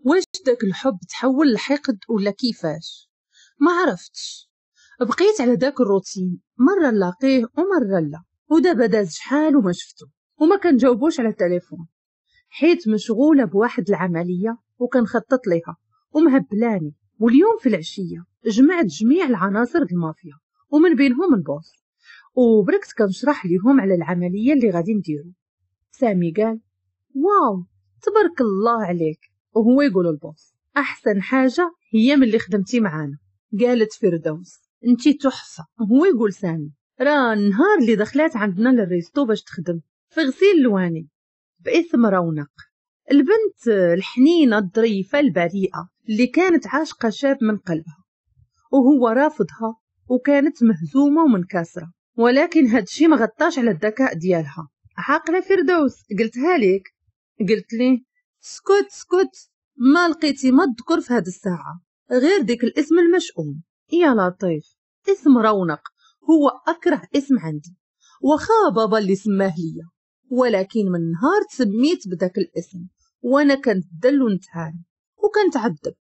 واش داك الحب تحول لحقد ولا كيفاش؟ ما عرفتش. بقيت على داك الروتين، مرة نلاقيه ومرة لا، ودابا داز شحال وما شفتو وما كنجاوبوش على التليفون، حيت مشغولة بواحد العملية وكنخطط ليها ومهبلاني. واليوم في العشية جمعت جميع العناصر المافيا ومن بينهم ال boss، وبركت كنشرح ليهم على العملية اللي غادي نديرو. سامي قال واو تبارك الله عليك، وهو يقول ال boss احسن حاجة هي من اللي خدمتي معانا. قالت فردوس انتي تحفة، وهو يقول سامي راه النهار اللي دخلات عندنا لل resto باش تخدم في غسيل اللواني باسم رونق، البنت الحنينه الظريفة البريئة اللي كانت عاشقه شاب من قلبها وهو رافضها، وكانت مهزومه ومنكسره، ولكن هادشي ما غطاش على الذكاء ديالها. عاقلة فردوس قلتها لك. قلت ليه سكت سكت، ما لقيتي ما تذكر في هاد الساعة غير ديك الاسم المشؤوم. يا لطيف، اسم رونق هو اكره اسم عندي، وخا بابا اللي سماه ليا، ولكن من نهار تسميت بداك الاسم وانا كنتدل ونتهان وكنتعذب.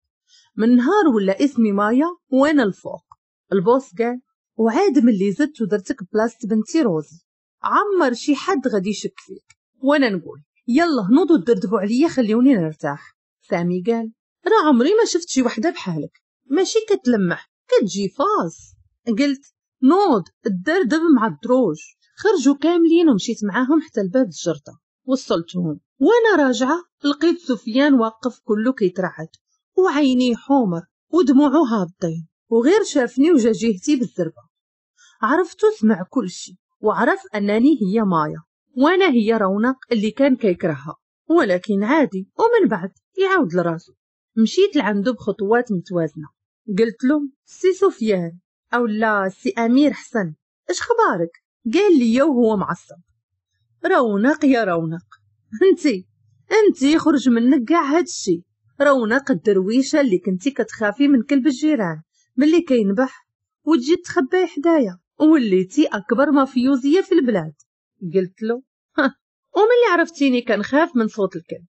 من نهار ولا اسمي مايا وانا الفوق. ال boss قال وعاد ملي زدت ودرتك بلاصة بنتي روزي، عمر شي حد غادي يشك فيك. وانا نقول يلا نوضوا تدردبوا عليا خليوني نرتاح. سامي قال راه عمري ما شفت شي وحده بحالك، ماشي كتلمح كتجي فاس. قلت نوض الدردب مع الدروج. خرجوا كاملين ومشيت معاهم حتى الباب الجردة، وصلتهم وانا راجعه لقيت سفيان واقف كله كيترعد وعينيه حمر ودموعه هابطين، وغير شافني وجا جهتي بالزربه. عرفتو سمع كل شيء وعرف انني هي مايا وانا هي رونق اللي كان كيكرهها، ولكن عادي ومن بعد يعاود لراسو. مشيت لعندو بخطوات متوازنة، قلت له سي سفيان او لا سي امير حسن، اش خبارك؟ قال لي وهو معصب رونق يا رونق، انتي خرج منك كاع هادشي. رونق الدرويشه اللي كنتي كتخافي من كلب الجيران ملي كينبح وتجي تخبي حدايا، وليتي اكبر مافيوزيه في البلاد. قلت له وملي عرفتيني كنخاف من صوت الكلب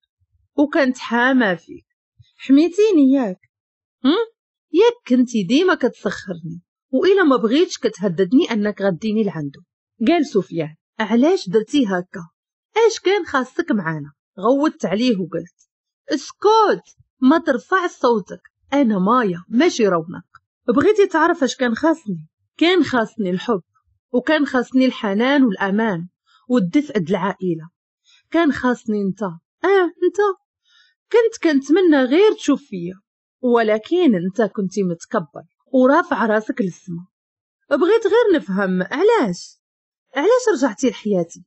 وكنت حامى فيك، حميتيني ياك؟ ياك كنتي ديما كتسخرني، وإلا ما بغيتش كتهددني انك غديني لعندو. قال سفيان علاش درتي هكا؟ اش كان خاصك معانا؟ غوتت عليه وقلت اسكت ما ترفع صوتك، انا مايا ماشي رونق. بغيتي تعرف اش كان خاصني؟ كان خاصني الحب، وكان خاصني الحنان والامان والدفء د العائلة، كان خاصني انت. انت كنت كنتمنى غير تشوف فيا، ولكن انت كنتي متكبر ورافع راسك للسما. بغيت غير نفهم علاش رجعتي لحياتي؟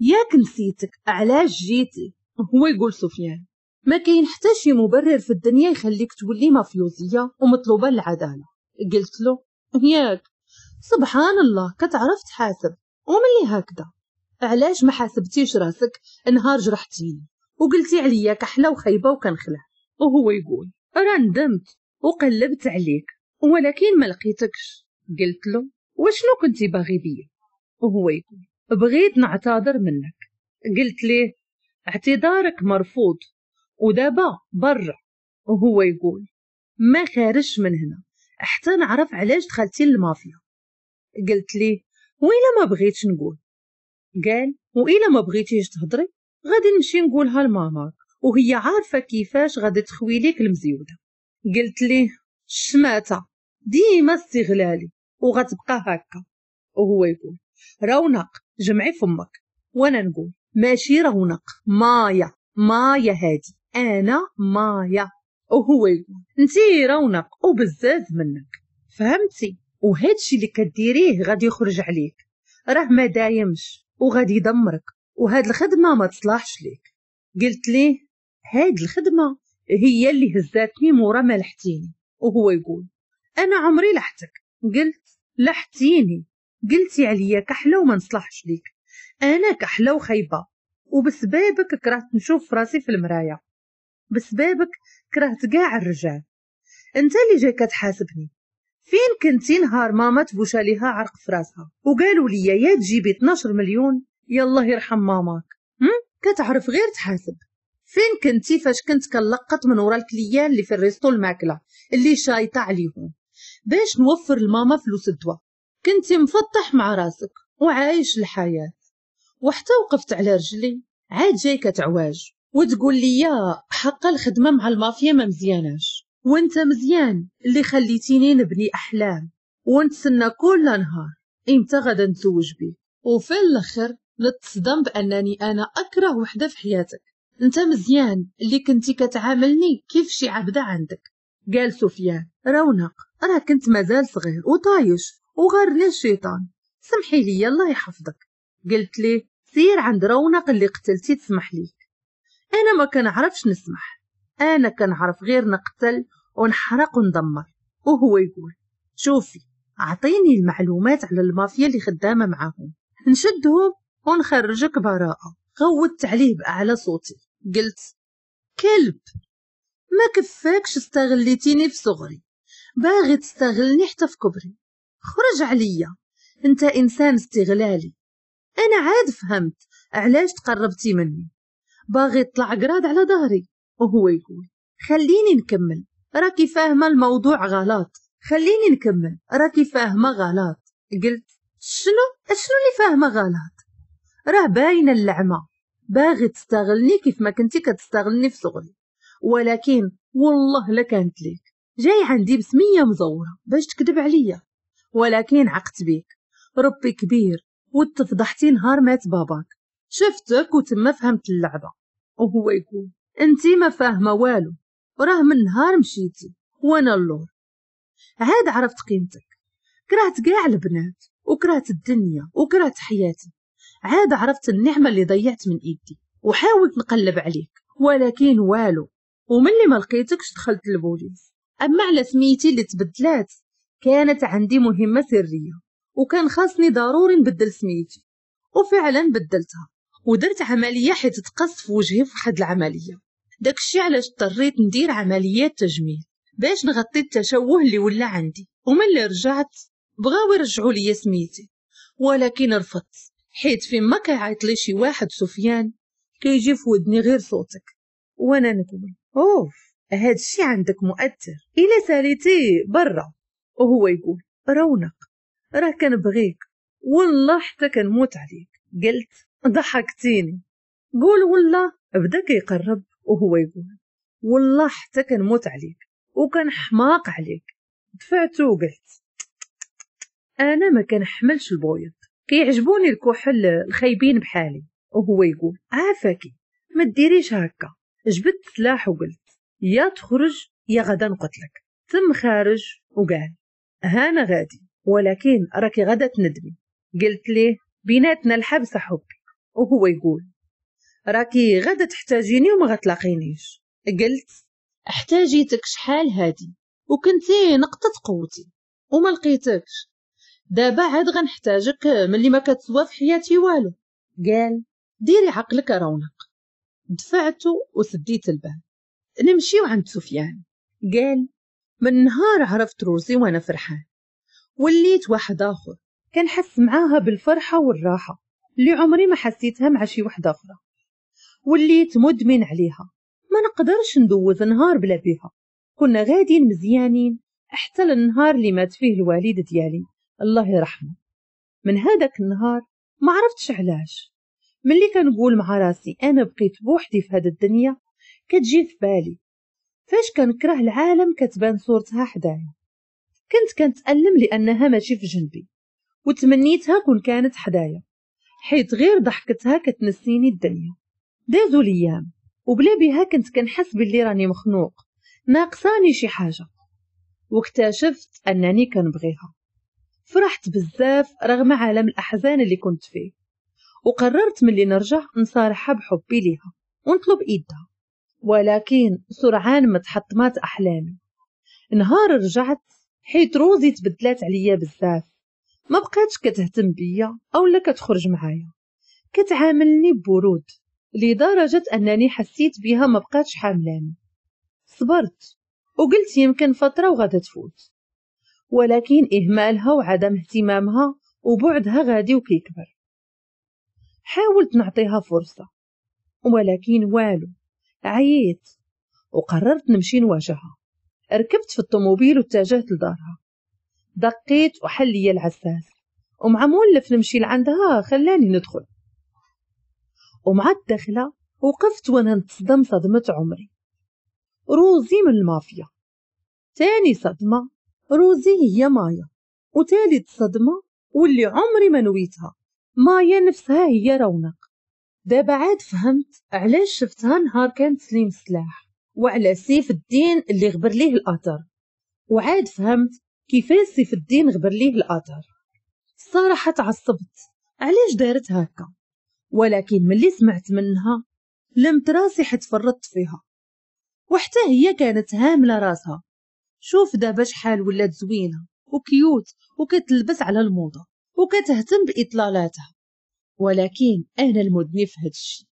ياك نسيتك، علاش جيتي؟ هو يقول سفيان ما كاين حتى شي مبرر في الدنيا يخليك تولي مافيوزيه ومطلوبه للعدالة. قلت له ياك سبحان الله كتعرف تحاسب، وملي هكذا علاش ما حاسبتيش راسك نهار جرحتيني وقلتي عليا كحلة وخيبه وكنخلع؟ وهو يقول راه ندمت وقلبت عليك ولكن ما لقيتكش. قلت له وشنو كنتي باغي بيا؟ وهو يقول بغيت نعتذر منك. قلت ليه اعتذارك مرفوض ودابا برا. وهو يقول ما خارجش من هنا حتى نعرف علاش دخلتي للمافيا. قلت ليه وإلا ما بغيتش نقول؟ قال وإلا ما بغيتيش تهضري غادي نمشي نقولها لماماك وهي عارفه كيفاش غادي تخوي ليك المزيوده. قلت ليه الشماته ديما استغلالي وغتبقى هكا. وهو يقول رونق جمعي فمك. وانا نقول ماشي رونق، مايا، مايا هادي انا مايا. وهو يقول انتي رونق وبزاف منك، فهمتي؟ وهادشي اللي كديريه غادي يخرج عليك، راه ما دايمش وغادي يدمرك، وهاد الخدمة ما تصلحش ليك. قلت ليه هاد الخدمة هي اللي هزاتني مورا ما لحتيني. وهو يقول انا عمري لحتك. قلت لحتيني، قلتي عليا كحلة وما نصلحش ليك، انا كحلة وخايبه وبسبابك كرهت نشوف راسي في المراية، بسبابك كرهت كاع الرجال. انت اللي جاي كتحاسبني، فين كنتي نهار ماما تبوشا ليها عرق في راسها وقالوا لي يا تجيبي 12 مليون يالله يرحم ماماك؟ كتعرف غير تحاسب. فين كنتي فاش كنت كنلقط من ورا ال clients اللي في ال resto الماكلة اللي شايطه عليهم باش نوفر لماما فلوس الدواء؟ كنتي مفطح مع راسك وعايش الحياة، وحتى وقفت على رجلي عاد جاي كتعواج وتقول لي يا حق الخدمة مع المافيا ما مزياناش، وانت مزيان اللي خليتيني نبني احلام ونتسنى كل نهار امتى غادا نتزوج بيك، وفي الاخر نتصدم بانني انا اكره وحده في حياتك. انت مزيان اللي كنتي كتعاملني كيف شي عبده عندك. قال سفيان رونق راه كنت مازال صغير وطايش وغرني الشيطان، سمحي لي الله يحفظك. قلت ليه سير عند رونق اللي قتلتي تسمح ليك. انا ما كنعرفش نسمح، انا كنعرف غير نقتل ونحرق وندمر. وهو يقول شوفي اعطيني المعلومات على المافيا اللي خدامه معاهم نشدهم ونخرجك براءه. غوتت عليه باعلى صوتي قلت كلب، ما كفاكش استغليتيني في صغري، باغي تستغلني حتى في كبري، خرج عليا، انت انسان استغلالي. انا عاد فهمت علاش تقربتي مني، باغي تطلع قراد على ظهري. وهو يقول خليني نكمل راكي فاهمه الموضوع غلط، خليني نكمل راكي فاهمه غلط. قلت شنو اللي فاهمه غلط؟ راه باينة اللعمه، باغي تستغلني كيف ما كنتي كتستغلني في صغري، ولكن والله لا كانت ليك، جاي عندي بسميه مزوره باش تكذب عليا، ولكن عقت بيك، ربي كبير وتفضحتي نهار مات باباك، شفتك وتما فهمت اللعبة. وهو يقول انتي ما فاهمه والو، راه من نهار مشيتي وانا اللور عاد عرفت قيمتك، كرهت كاع البنات وكرهت الدنيا وكرهت حياتي، عاد عرفت النعمة اللي ضيعت من ايدي، وحاولت نقلب عليك ولكن والو، وملي ما لقيتكش دخلت للبوليس. اما على سميتي اللي تبدلات كانت عندي مهمة سرية وكان خاصني ضروري نبدل سميتي، وفعلا بدلتها ودرت عملية حيت تقص في وجهي في واحد العملية، داكشي علاش اضطريت ندير عمليات تجميل باش نغطي التشوه اللي ولا عندي. وملي رجعت بغاو يرجعوا لي سميتي ولكن رفضت، حيت فيما كيعيط لي شي واحد سفيان كيجي في ودني غير صوتك، وانا نقول اوف هادشي عندك مؤثر، الا ساليتي برا. وهو يقول رونق راه كنبغيك والله حتى كنموت عليك. قلت ضحكتيني، قول والله. بدا كيقرب وهو يقول والله حتى كنموت عليك وكنحماق عليك. دفعته وقلت انا ما كنحملش البويض، كيعجبوني الكحل الخايبين بحالي. وهو يقول عافاكي ما ديريش هكا. جبدت سلاح وقلت يا تخرج يا غدا نقتلك. تم خارج وقال هانا غادي ولكن راكي غدا تندمي. قلت ليه بيناتنا الحبس حبي. وهو يقول راكي غدا تحتاجيني وما غتلاقينيش. قلت احتاجيتك شحال هادي وكنتي نقطة قوتي وما لقيتكش، دابا عاد غنحتاجك ملي ما كتسوى في حياتي والو. قال ديري عقلك رونق. دفعته وسديت الباب. نمشيو عند سفيان. قال من نهار عرفت روزي وانا فرحان، وليت واحد اخر كنحس معاها بالفرحه والراحة اللي عمري ما حسيتها مع شي وحده اخرى، وليت مدمن عليها، ما نقدرش ندوز نهار بلا بيها. كنا غاديين مزيانين حتى للنهار اللي مات فيه الوالد ديالي الله يرحمه. من هذاك النهار ما عرفتش علاش ملي كنقول مع راسي انا بقيت بوحدي في هذا الدنيا كتجي في بالي فاش كنكره العالم كتبان صورتها حدايا. كنت كنتألم لانها ماشي في جنبي وتمنيتها كون كانت حدايا، حيت غير ضحكتها كتنسيني الدنيا. دازوا الايام وبلا بها كنت كنحس باللي راني مخنوق، ناقصاني شي حاجة، واكتشفت انني كنبغيها. فرحت بزاف رغم عالم الاحزان اللي كنت فيه، وقررت ملي نرجع نصارحها بحبي ليها ونطلب ايدها، ولكن سرعان ما تحطمات احلامي. نهار رجعت حيت روزي تبدلات عليا بزاف، ما بقاتش كتهتم بيا او لا كتخرج معايا، كتعاملني ببرود لدرجة انني حسيت بها ما بقاتش حاملاني. صبرت وقلت يمكن فترة وغادا تفوت، ولكن اهمالها وعدم اهتمامها وبعدها غادي وكيكبر. حاولت نعطيها فرصة ولكن والو، عييت وقررت نمشي نواجهها. ركبت في الطوموبيل واتجهت لدارها. دقيت وحل لي العساس، ومع مولف نمشي لعندها خلاني ندخل. ومع الدخلة وقفت وانا نتصدم صدمة عمري. روزي من المافيا. تاني صدمة روزي هي مايا. وثالث صدمة واللي عمري ما نويتها، مايا نفسها هي رونق. دابا عاد فهمت علاش شفتها نهار كان تسليم السلاح، وعلى سيف الدين اللي غبر ليه الأثر. وعاد فهمت كيفاش سيف الدين غبر ليه الأثر. الصراحة تعصبت علاش دارت هكا، ولكن ملي سمعت منها لمت راسي حيت فرطت فيها. وحتى هي كانت هاملة راسها. شوف دابا شحال ولات زوينة و cute وكتلبس على الموضة وكتهتم بإطلالاتها، ولكن أنا المدني في هاد الشي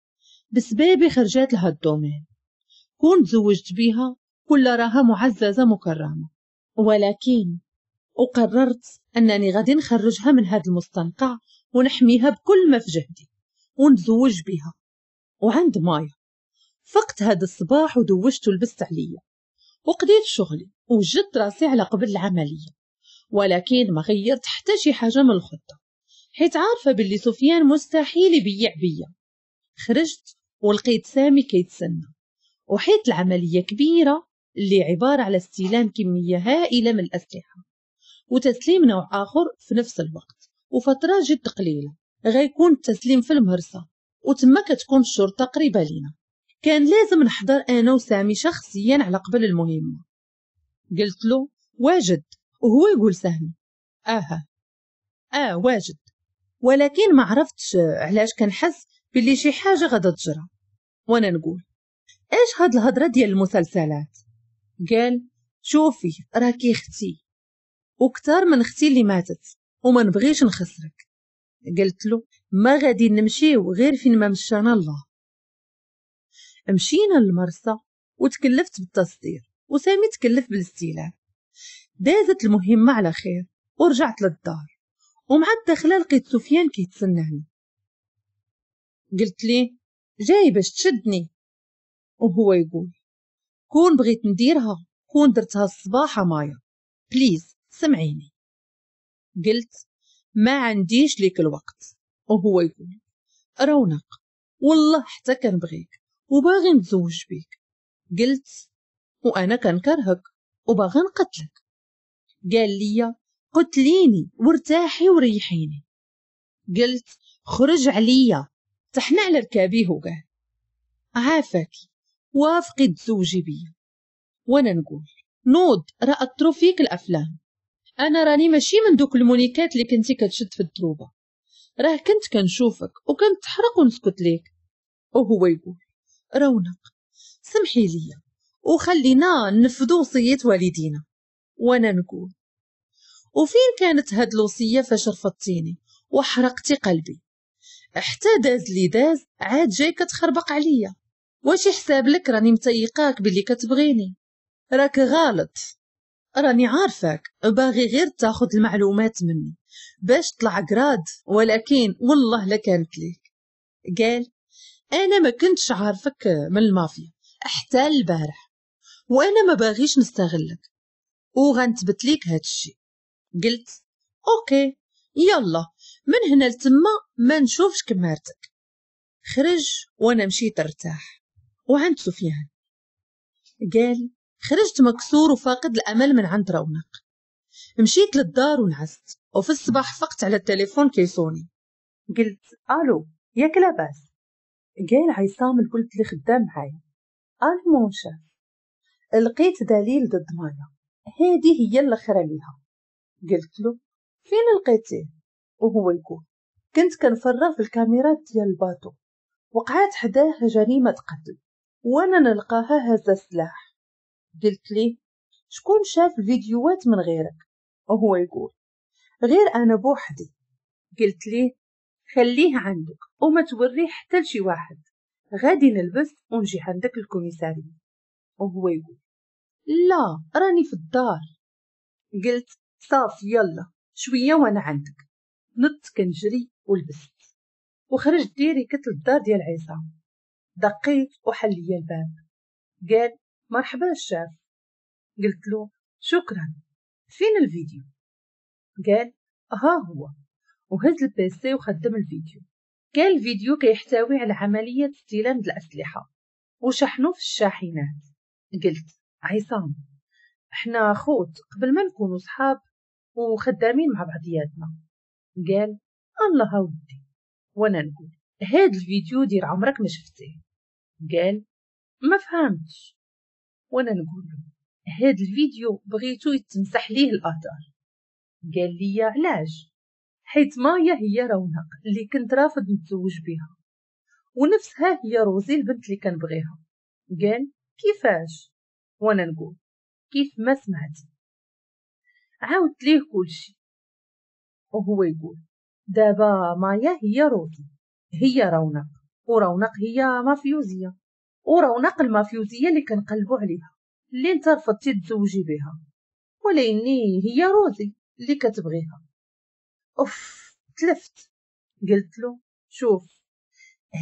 بسبابي خرجات لها ال domaine. كون تزوجت بيها كل راها معززة مكرمة، ولكن وقررت أنني غادي نخرجها من هاد المستنقع ونحميها بكل ما في جهدي ونتزوج بها. وعند مايا فقت هاد الصباح ودوشت ولبست عليا وقضيت شغلي وجدت راسي على قبل العملية، ولكن ما غيرت حتى شي حاجة من الخطة حيت عارفة باللي سفيان مستحيل يبيع بيا. خرجت ولقيت سامي كيتسنى، وحيت العملية كبيرة اللي عبارة على استلام كمية هائلة من الأسلحة وتسليم نوع آخر في نفس الوقت وفترة جد قليلة. غيكون التسليم في المهرسة وتما كتكون الشرطة قريبة لينا. كان لازم نحضر أنا وسامي شخصيا على قبل المهمة. قلت له واجد، وهو يقول سامي واجد، ولكن ما عرفتش علاش كنحس باللي شي حاجة غادا تجرى. وانا نقول ايش هاد الهضرة ديال المسلسلات؟ قال شوفي راكي اختي وكتار من اختي اللي ماتت وما نبغيش نخسرك. قلت له ما غادي نمشيو غير فين ما مشانا الله. مشينا للمرسى وتكلفت بالتصدير وسامي تكلف بالاستيلاء. دازت المهمة على خير ورجعت للدار، ومع الدخلة لقيت سفيان كيتسناني. قلت ليه جاي باش تشدني، وهو يقول كون بغيت نديرها كون درتها الصباح مايا، please سمعيني. قلت ما عنديش ليك الوقت، وهو يقول رونق والله حتى كنبغيك وباغي نتزوج بيك. قلت وانا كنكرهك وباغي نقتلك. قال لي قتليني وارتاحي وريحيني. قلت خرج عليا. تحنى على ركابيه وقال عافاكي وافقي تزوجي بيا. وانا نقول نوض راه اثروا فيك الافلام، انا راني ماشي من دوك المونيكات اللي كنتي كتشد في الدروبه، راه كنت كنشوفك وكنت تحرق ونسكت ليك. وهو يقول رونق سمحي لي وخلينا ننفذوا وصية والدينا. وانا نقول وفين كانت هاد الوصية فاش رفضتيني وحرقتي قلبي؟ حتى داز لي داز عاد جاي كتخربق عليا. واش حساب لك راني متيقاك باللي كتبغيني؟ راك غلط، راني عارفاك باغي غير تاخذ المعلومات مني باش طلع grade، ولكن والله لا كانت ليك. قال انا ما كنتش عارفك من المافيا حتى البارح، وانا ما باغيش نستغلك وغنثبت ليك هادشي. قلت OK يلا من هنا لتما ما نشوفش كمارتك. خرج وانا مشيت ارتاح. وعند سفيان قال خرجت مكسور وفاقد الامل من عند رونق. مشيت للدار ونعست، وفي الصباح فقت على التليفون كيصوني. قلت الو ياك لاباس؟ قال عصام الولد اللي خدام معايا. الو mon chef، لقيت دليل ضد مايا، هذه هي الاخرى ليها. قلت له فين لقيتيه؟ وهو يقول كنت كنفرغ في الكاميرات ديال ال bateau، وقعات حداه جريمة قتل وانا نلقاها هازه السلاح. قلت ليه شكون شاف الفيديوهات من غيرك؟ وهو يقول غير انا بوحدي. قلت ليه خليه عندك وما توريه حتى لشي واحد، غادي نلبس ونجي عندك ال commissariat. وهو يقول لا راني في الدار. قلت صافي يلا شوية وانا عندك. نط كنجري ولبست وخرجت direct للدار ديال عصام. دقيت وحل لي الباب. قال مرحبا الشاف. قلت له شكرا، فين الفيديو؟ قال ها هو، وهز ال PC وخدم الفيديو. كان الفيديو كيحتوي على عملية استلام الأسلحة وشحنو في الشاحنات. قلت عصام احنا خوت قبل ما نكونوا صحاب وخدامين مع بعضياتنا. قال الله ودي. وانا نقول هاد الفيديو دير عمرك ما شفتيه. قال ما فهمتش. وانا نقول له هاد الفيديو بغيتو يتمسح ليه الاثار. قال لي علاش؟ حيت مايا هي رونق اللي كنت رافض نتزوج بها، ونفسها هي روزي البنت اللي كنبغيها. قال كيفاش؟ وانا نقول كيف ما سمعتي. عاودت ليه كلشي وهو يقول دابا مايا هي روزي، هي رونق، ورونق هي مافيوزيه، ورونق المافيوزيه اللي كنقلبوا عليها اللي انت رفضتي تزوجي بها، ولكني هي روزي اللي كتبغيها. اوف تلفت. قلت له شوف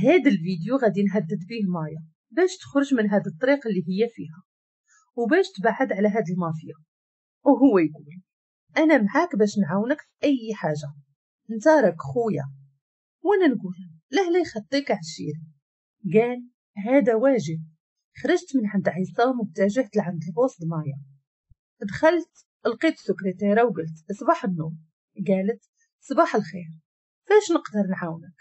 هذا الفيديو غادي نهدد به مايا باش تخرج من هذا الطريق اللي هي فيها وباش تبعد على هاد المافيا. وهو يقول انا معاك باش نعاونك في اي حاجة، انت راك خويا. وانا نقول لا لا يخطيك عشيري. قال هذا واجب. خرجت من عند عصام واتجهت لعند ال poste مايا. دخلت لقيت السكرتيره وقلت صباح النور. قالت صباح الخير، فاش نقدر نعاونك؟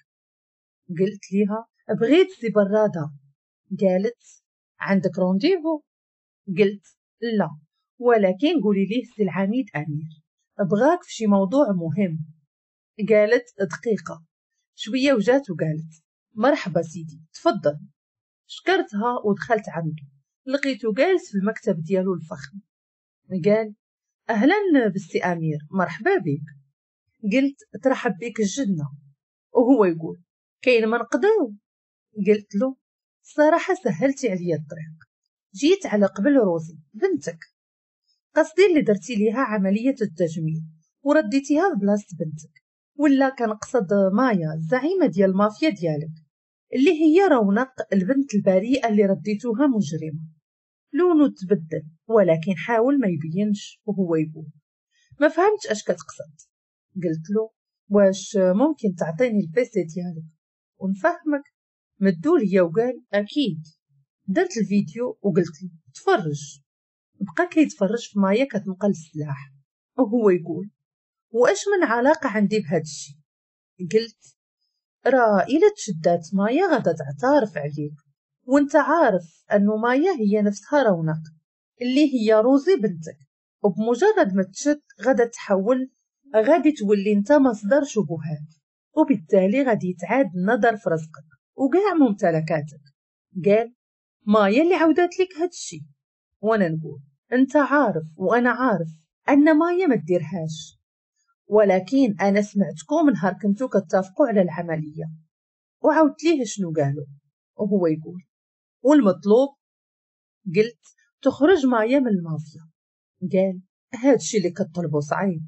قلت ليها بغيت سي برادة. قالت عندك rendez-vous؟ قلت لا، ولكن قولي ليه سي العميد امير بغاك في شي موضوع مهم. قالت دقيقة شوية وجات وقالت مرحبا سيدي تفضل. شكرتها ودخلت عنده، لقيته جالس في المكتب ديالو الفخم. قال اهلا بالسي امير مرحبا بك. قلت ترحب بك الجنة. وهو يقول كاين ما نقضيو. قلت له صراحة سهلتي عليا الطريق، جيت على قبل روزي بنتك، قصدي اللي درتي ليها عملية التجميل ورديتيها في بلاصة بنتك، ولا كنقصد مايا الزعيمه ديال المافيا ديالك اللي هي رونق البنت البريئة اللي رديتوها مجرمه. لونه تبدل ولكن حاول ما يبينش. وهو يقول ما فهمتش اش كتقصد. قلت له واش ممكن تعطيني ال PC ديالك ونفهمك؟ مدو ليا وقال اكيد. درت الفيديو وقلت له تفرج. بقى كيتفرج في مايا كتنقل السلاح وهو يقول واش من علاقة عندي بهذا الشيء؟ قلت راه الا تشدات مايا غادا تعترف عليك، وانت عارف انه مايا هي نفسها رونق اللي هي روزي بنتك، وبمجرد ما تشد غادا تحول، غادي تولي انت مصدر شبهات، وبالتالي غادي يتعاد النظر في رزقك وكاع ممتلكاتك. قال مايا اللي عودات لك هادشي. وانا نقول انت عارف وانا عارف ان مايا ما ديرهاش، ولكن انا سمعتكم نهار كنتو كتفقوا على العملية. وعاودت ليه شنو قالوا وهو يقول والمطلوب؟ قلت تخرج مايا من المافيا. قال هادشي اللي كطلبو صعيب.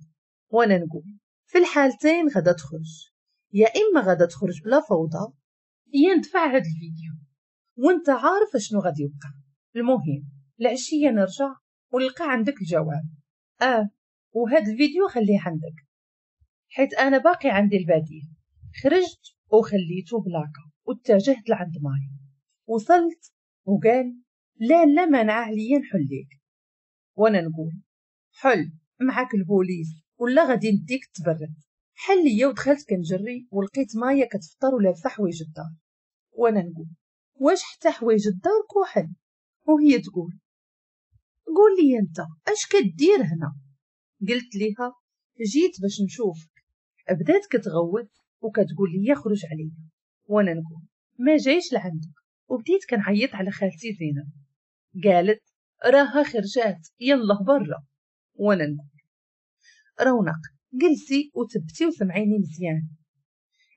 وانا نقول في الحالتين غادا تخرج، يا اما غادا تخرج بلا فوضى يا ندفع هاد الفيديو وانت عارف شنو غادي يوقع. المهم العشية نرجع ونلقى عندك الجواب. وهاد الفيديو خليه عندك حيت انا باقي عندي البديل. خرجت وخليته بلاكه واتجهت لعند مايا. وصلت وقال لا لا منع عليا نحليك. وانا نقول حل معاك البوليس ولا غادي نديك تبرد. حل ليا ودخلت كنجري ولقيت مايا كتفطر ولابسه حوايج الدار. وانا نقول واش حتى حوايج الدار كحل؟ وهي تقول قول لي انت اش كدير هنا؟ قلت ليها جيت باش نشوفك. بدات كتغوت وكتقول لي خرج عليا. وانا نقول ما جايش لعندك. وبديت كنعيط على خالتي زينب. قالت راها خرجات يلا برا. وانا نقول رونق جلسي وتبتي وسمعيني مزيان،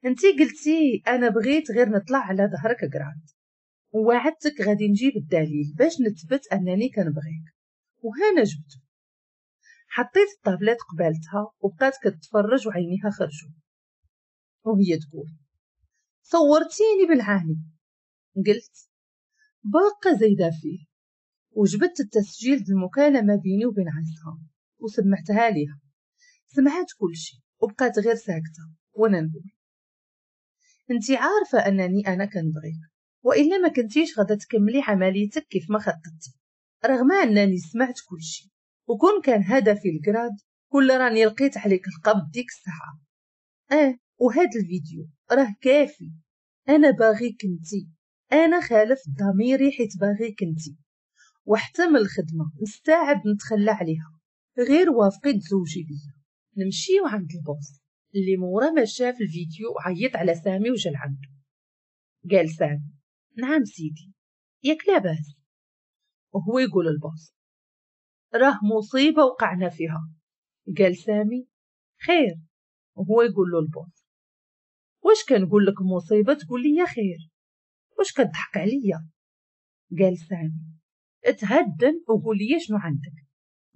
انتي قلتي انا بغيت غير نطلع على ظهرك grade، ووعدتك غادي نجيب الدليل باش نثبت انني كنبغيك، وهنا جبته. حطيت الطابلات قبالتها وبقات كتفرج وعينيها خرجوا وهي تقول صورتيني بالعاني. قلت باقا زايدة فيه، وجبدت التسجيل د المكالمة بيني وبين عصام وسمعتها ليها. سمعت كل شيء وبقات غير ساكتة، وانا نقول انتي عارفة انني انا كنبغيك، والا ما كنتيش غادا تكملي عمليتك كيف ما خططتي، رغم انني سمعت كل شيء، وكون كان هدفي ال grade كل راني لقيت عليك القبض ديك الساعة. وهاد الفيديو راه كافي، انا باغيك انتي، انا خالف ضميري حيت باغيك انتي، وحتى من الخدمة مستعد نتخلى عليها، غير وافقي تزوجي بيا. نمشيو عند ال boss اللي مورا ما شاف الفيديو عيط على سامي وجا لعندو. قال سامي نعم سيدي، ياك لاباس؟ وهو يقول ال boss راه مصيبة وقعنا فيها. قال سامي خير؟ وهو يقول له ال boss واش كنقول لك مصيبة تقول لي خير، واش كتضحك عليا؟ قال سامي اتهدن وقول لي شنو عندك.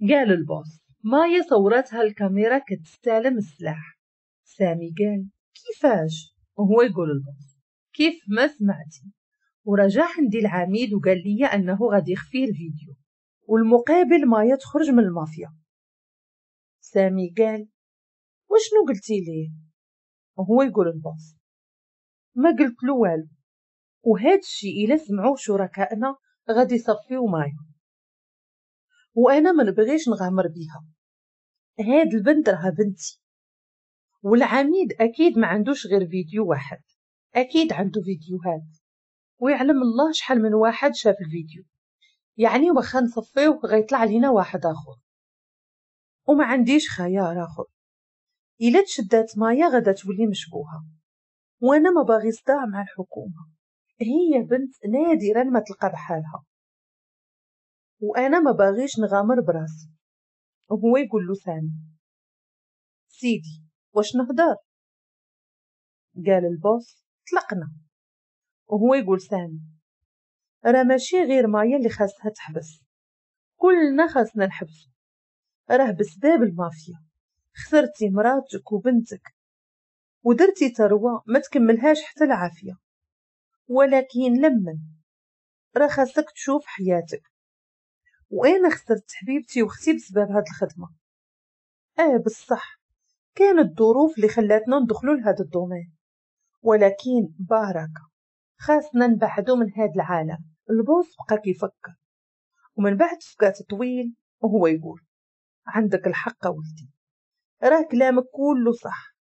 قال ال boss مايا صورتها الكاميرا كتستلم السلاح. سامي قال كيفاش؟ وهو يقول ال boss كيف ما سمعتي. ورجع عندي العميد وقال لي انه غادي يخفي الفيديو، والمقابل مايا تخرج من المافيا. سامي قال وشنو قلتي ليه؟ وهو يقول ال boss ما قلت له والو، وهذا الشيء الا سمعوه شركائنا غادي يصفيو مايا، وانا ما نبغيش نغامر بيها، هاد البنت راها بنتي، والعميد اكيد ما عندوش غير فيديو واحد، اكيد عنده فيديوهات، ويعلم الله شحال من واحد شاف الفيديو، يعني واخا نصفيوه غيطلع لينا واحد اخر، وما عنديش خيار اخر. الا تشدات مايا غادا تولي مشبوهة، وانا ما باغي صداع مع الحكومة، هي بنت نادرا ما تلقى بحالها، وانا ما باغيش نغامر براسي. وهو يقول له سامي سيدي واش نهدر؟ قال ال boss طلقنا. وهو يقول سامي راه ماشي غير مايا اللي خاصها تحبس، كلنا خاصنا نحبسو، راه بسباب المافيا خسرتي مراتك وبنتك ودرتي ثروة ما تكملهاش حتى العافية، ولكن لمن راه خاصك تشوف حياتك، وانا خسرت حبيبتي واختي بسبب هاد الخدمة. بصح كانت الظروف اللي خلاتنا ندخلوا لهذا ال domaine، ولكن باركه خاصنا نبعدو من هاد العالم. ال boss بقى كيفكر، ومن بعد سكات طويل وهو يقول عندك الحق ولدي، راه كلامك كله صح،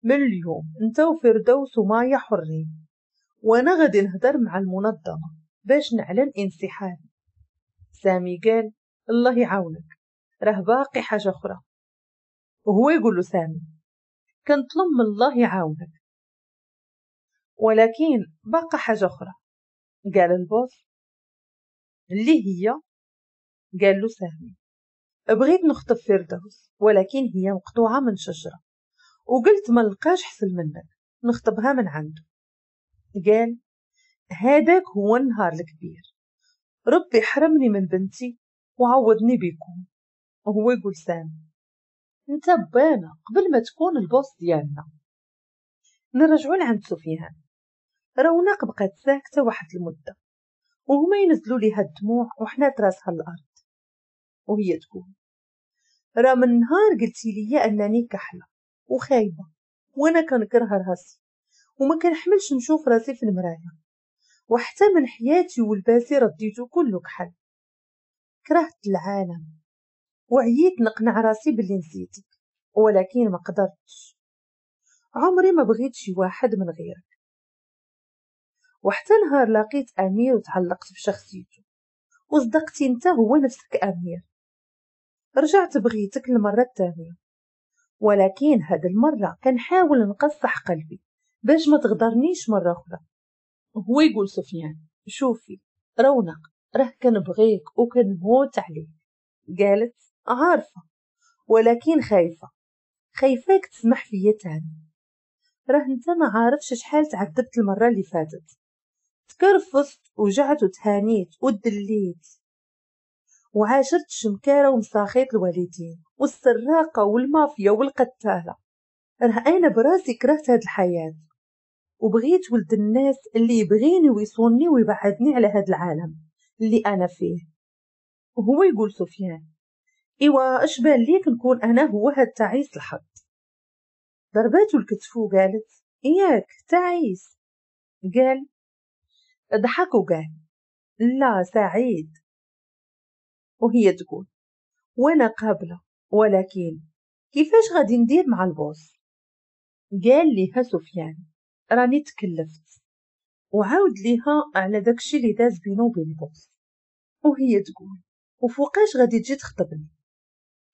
من اليوم انت وفردوس ومايا حرين، وانا غادي نهدر مع المنظمة باش نعلن انسحابي. سامي قال الله يعاونك، راه باقي حاجة اخرى. وهو يقول له سامي كنطلب من الله يعاونك، ولكن باقي حاجة اخرى. قال ال boss اللي هي؟ قال له سامي بغيت نخطب فردوس، ولكن هي مقطوعة من شجرة، وقلت ما نلقاش حسن منك نخطبها من عنده. قال هذاك هو النهار الكبير، ربي حرمني من بنتي وعوضني بكم. وهو يقول سامي انت بانا قبل ما تكون ال boss ديالنا. نرجعوا لعند سفيان. رونق بقات ساكته واحد المدة، وهما ينزلوا ليها الدموع وحنات راسها الارض، وهي تقول راه من نهار قلتي لي انني كحلة وخايبه، وانا كنكره راسي وما كنحملش نشوف راسي في المراية، وحتى من حياتي ولباسي رديته كله كحل، كرهت العالم وعييت نقنع راسي باللي نسيتك، ولكن ما قدرتش، عمري ما بغيت شي واحد من غيرك. وحتى نهار لقيت امير وتعلقت بشخصيته وصدقتي انت هو نفسك امير، رجعت بغيتك المرة الثانية، ولكن هاد المرة كنحاول نقصح قلبي باش ما تغدرنيش مرة اخرى. هو يقول سفيان شوفي رونق راه كنبغيك وكنموت عليك. قالت عارفه ولكن خايفة، خايفاك تسمح فيا تاني، راه انت ما عارفش شحال تعذبت المرة اللي فاتت، تكرفست وجعت وتهانيت ودليت وعاشرت الشمكاره ومساخيط الوالدين والسراقه والمافيا والقتاله، راه انا براسي كرهت هاد الحياة وبغيت ولد الناس اللي يبغيني ويصوني ويبعدني على هذا العالم اللي انا فيه. وهو يقول سفيان ايوا اش بان ليك نكون انا هو هاد تعيس الحظ؟ ضرباتو الكتف وقالت ياك تعيس. قال ضحك وقال لا سعيد. وهي تقول وانا قابله، ولكن كيفاش غادي ندير مع ال boss؟ قال ليها سفيان راني تكلفت، وعاود ليها على داكشي اللي داز بينو وبين ال boss. وهي تقول وفوقاش غادي تجي تخطبني؟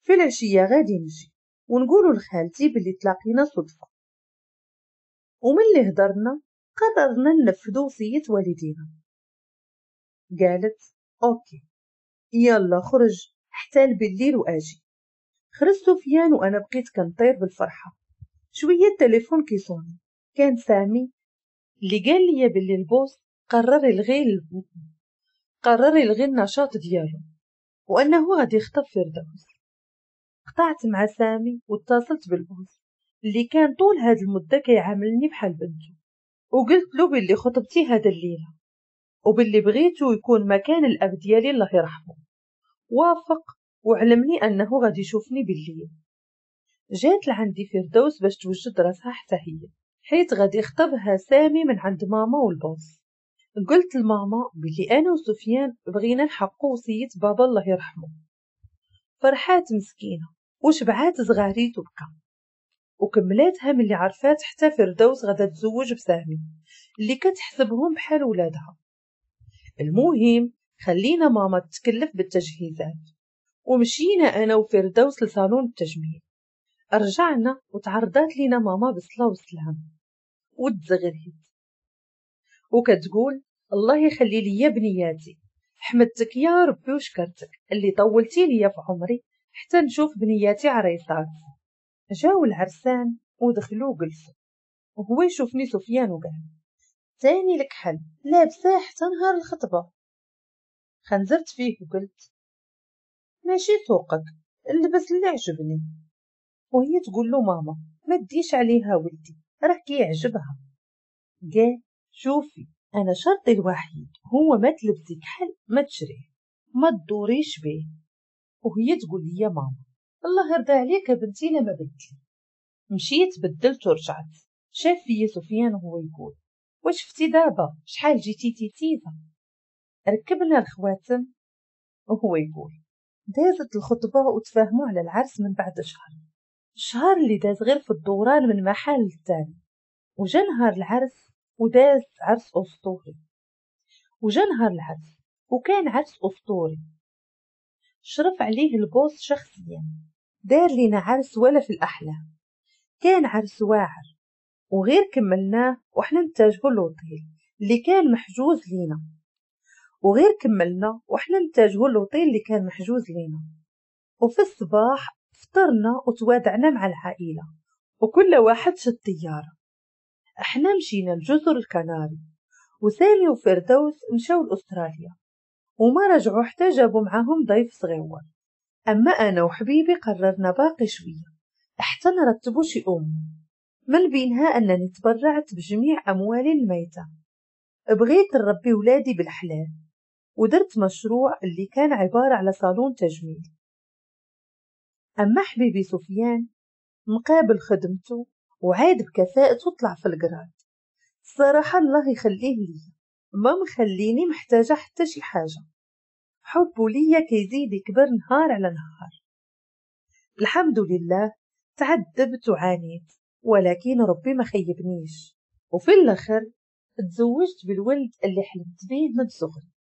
في العشية غادي نجي ونقولوا لخالتي باللي تلاقينا صدفة. ومن اللي هضرنا قررنا ننفذوا وصية والدينا. قالت OK يلا خرج حتى بالليل واجي. خرج سفيان وانا بقيت كنطير بالفرحه. شوية التليفون كيصوني، كان سامي اللي قال لي باللي ال boss قرر يلغي النشاط ديالو وانه غادي يخطب فردوس. قطعت مع سامي واتصلت بال boss اللي كان طول هاد المدة كيعاملني بحال بنته، وقلت له باللي خطبتي هاد الليلة وباللي بغيته يكون مكان الاب ديالي الله يرحمه. وافق وعلمني انه غادي يشوفني بالليل. جات لعندي فردوس باش توجد راسها حتى هي، حيت غادي يخطبها سامي من عند ماما وال boss. قلت لماما بلي انا وسفيان بغينا نحققوا وصية بابا الله يرحمه. فرحات مسكينه وشبعات زغاريت وبكى، وكملاتها ملي عرفات حتى فردوس غادا تزوج بسامي اللي كتحسبهم بحال ولادها. المهم خلينا ماما تتكلف بالتجهيزات، ومشينا انا وفردوس لصالون التجميل. رجعنا وتعرضات لينا ماما بالصلاة والسلام والتزغريت، وكتقول الله يخلي لي بنياتي، حمدتك يا ربي وشكرتك اللي طولتي لي في عمري حتى نشوف بنياتي عريسات. جاو العرسان ودخلوا وجلسوا، وهو يشوفني سفيان وقال تاني الكحل لابساه حتى نهار الخطبة. خنزرت فيه وقلت ماشي سوقك، اللبس اللي عجبني. وهي تقول له ماما ما تديش عليها ولدي راه كيعجبها. قال شوفي انا شرطي الوحيد هو ما تلبسي كحل ما تشريه ما تدوريش به. وهي تقول لي يا ماما الله يرضى عليك بنتي لما بدلي. مشيت بدلت ورجعت. شاف فيا سفيان وهو يقول واش شفتي دابا شحال جيتي تيتيزه. ركبنا الخواتم وهو يقول دازت الخطبة وتفاهموا على العرس من بعد شهر، الشهر اللي داز غير في الدوران من محل للتاني. وجا نهار العرس وداز عرس اسطوري. وجا نهار العرس وكان عرس اسطوري، شرف عليه ال boss شخصيا، دار لينا عرس ولا في الاحلام. كان عرس واعر، وغير كملناه وحنا نتجهوا للوطيل اللي كان محجوز لينا. وغير كملنا وحنا نتجهوا للوطيل اللي كان محجوز لينا. وفي الصباح فطرنا وتوادعنا مع العائلة وكل واحد شد طيارة. احنا مشينا لجزر الكناري، وسامي وفردوس مشاو لأستراليا وما رجعوا حتى جابوا معاهم ضيف صغيور. اما انا وحبيبي قررنا باقي شوية حتى نرتبوا شي امور، من بينها انني تبرعت بجميع اموالي الميتة. بغيت نربي ولادي بالحلال، ودرت مشروع اللي كان عبارة على صالون تجميل. اما حبيبي سفيان مقابل خدمته وعاد بكفاءته طلع في ال grade. الصراحة الله يخليه لي، ما مخليني محتاجه حتى شي حاجة. حبه ليا كيزيد يكبر نهار على نهار. الحمد لله تعذبت وعانيت، ولكن ربي ما خيبنيش، وفي الاخر تزوجت بالولد اللي حلمت به من صغري.